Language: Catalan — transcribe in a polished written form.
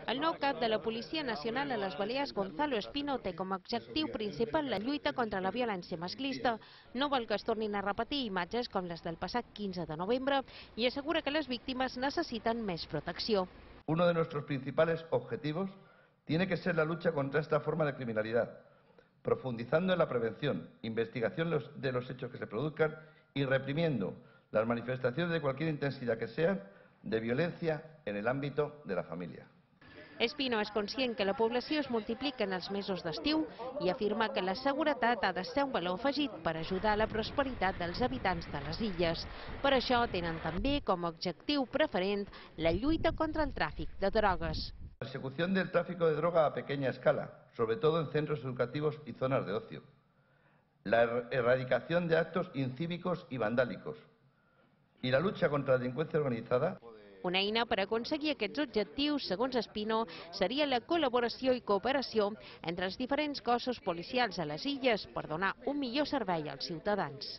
El nou cap de la Policia Nacional a les Balears, Gonzalo Espino, té com a objectiu principal la lluita contra la violència masclista. No vol que es tornin a repetir imatges com les del passat 15 de novembre i assegura que les víctimes necessiten més protecció. Uno de nuestros principales objetivos tiene que ser la lucha contra esta forma de criminalidad, profundizando en la prevención, investigación de los hechos que se produzcan y reprimiendo las manifestaciones de cualquier intensidad que sean de violencia en el ámbito de la familia. Espino és conscient que la població es multiplica en els mesos d'estiu i afirma que la seguretat ha de ser un valor afegit per ajudar a la prosperitat dels habitants de les illes. Per això tenen també com a objectiu preferent la lluita contra el tràfic de drogues. La persecución del tráfico de droga a pequeña escala, sobre todo en centros educativos y zonas de ocio. La erradicación de actos incívicos y vandálicos. Y la lucha contra la delincuencia organizada. Una eina per aconseguir aquests objectius, segons Espino, seria la col·laboració i cooperació entre els diferents cossos policials a les illes per donar un millor servei als ciutadans.